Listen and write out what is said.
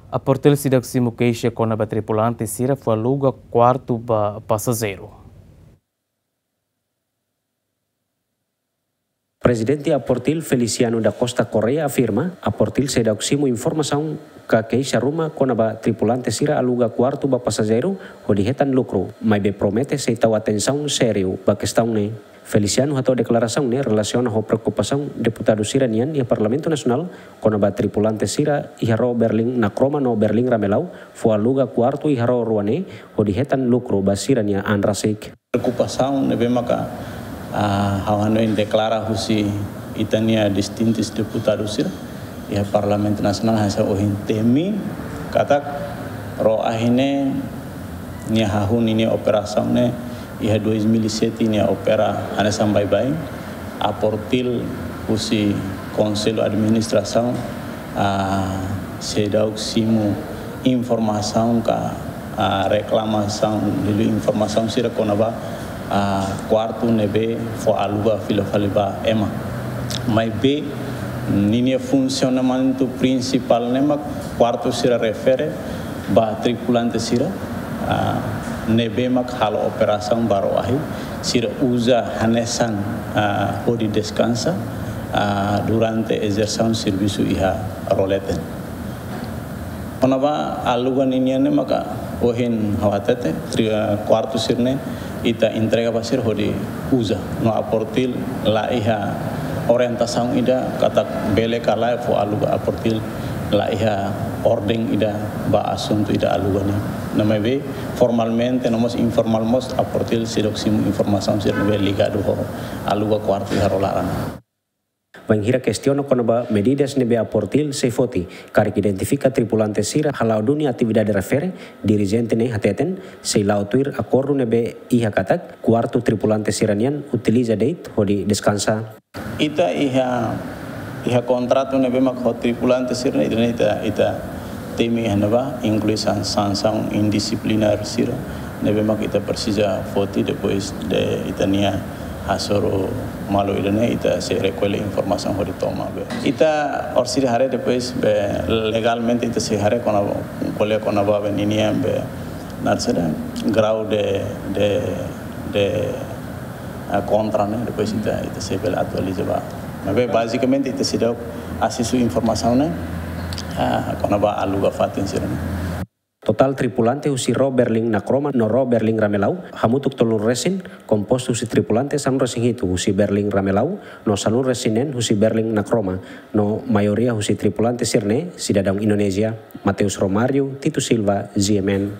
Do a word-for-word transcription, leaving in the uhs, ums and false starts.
Aportil seidauk simu keixa kona-ba tripulante sira fó aluga kuartu ba pasajeiru. Prezidente Aportil Feliciano da Costa Correia afirma, Aportil seidauk simu informasaun ka keixa ruma kona-ba tripulante sira aluga kuartu ba pasajeiru hodi hetan lukru, maibé promete sei tau atensaun sériu ba kestaun ne'e. Feliciano hato'o deklarasaun ne'e relasiona ho preokupasaun deputadu sira-nian iha Parlamentu Nasionál kona-ba tripulante sira iha ró Berlin Nakroma no Berlin Ramelau fó aluga kuartu iha ró rua ne'e hodi hetan lukru ba sira-nia an rasik. Preokupasaun ne'ebé maka, ah, ha'u hanoin deklara husi ita-nia distintus deputadu sira iha Parlamentu Nasionál hanesan ohin temi katak ró ahi ne'e nia hahú ninia operasaun ne'e iha dois mil e sete nia opera hanesan baibain. Aportil husi Konsellu Administrasaun, ah, seidauk simu informasaun ka, ah, reklamasaun, liuliu informasaun sira kona-ba, ah, kuartu ne'ebé fó aluga fila fali ba ema. Maibé ninia funsionamentu prinsipál ne'e mak kuartu sira refere ba tripulante sira, ah, ne'ebé mak halo operasaun ba ró ahi, sira uza hanesan, ah, hodi deskansa, ah, durante ezersaun servisu iha ró leten. Kona-ba aluga ninian ne'e maka ohin ha'u hatete, tri-, ah, kuartu sira-ne'e ita entrega ba sira hodi uza. No Aportil la iha orientasaun ida katak bele ka lae fó aluga, Aportil la iha orden ida ba asuntu ida aluga ne'e. No maibé formalmente no mós informál mós Aportil seidauk simu informasaun sira ne'ebé ligadu ho aluga kuartu iha ró laran. Bainhira kestiona kona-ba medidas ne'ebé Aportil sei foti, karik identifika tripulante sira hala'o duni atividade refere, dirijente ne'e hateten, sei la'o tuir akordu ne'ebé iha katak, kuartu tripulante sira-nian utiliza de'it hodi deskansa. Ita iha, iha kontratu ne'ebé mak ho tripulante sira-ne'e, ita, ita temi iha ne'ebá, inklui san-, sansaun indisiplinár sira ne'ebé mak ita presiza foti depois de ita-nia hasoru malu ida-ne'e, ita sei rekolla informasaun hodi toma be. Ita orsida haree depois be legalmente ita sei haree kona, ko'alia kona-ba be ninian be, naran saida, grau de, de, de, ah, kontra ne'e, depois ita, ita sei bele atualiza ba. Maibé bazikamente ita seidauk asesu informasaun ne'e, ah, kona-ba aluga fatin sira-ne'e. Totál tripulante husi ró Berlin Nakroma no ró Berlin Ramelau, hamutuk tolunulu resin, kompostu husi tripulante sanulu resin hitu husi Berlin Ramelau, no sanulu resin neen husi Berlin Nakroma, no maioria husi tripulante sira-ne'e sidadaun Indonézia. Mateus Romário, Tito Silva, G M N.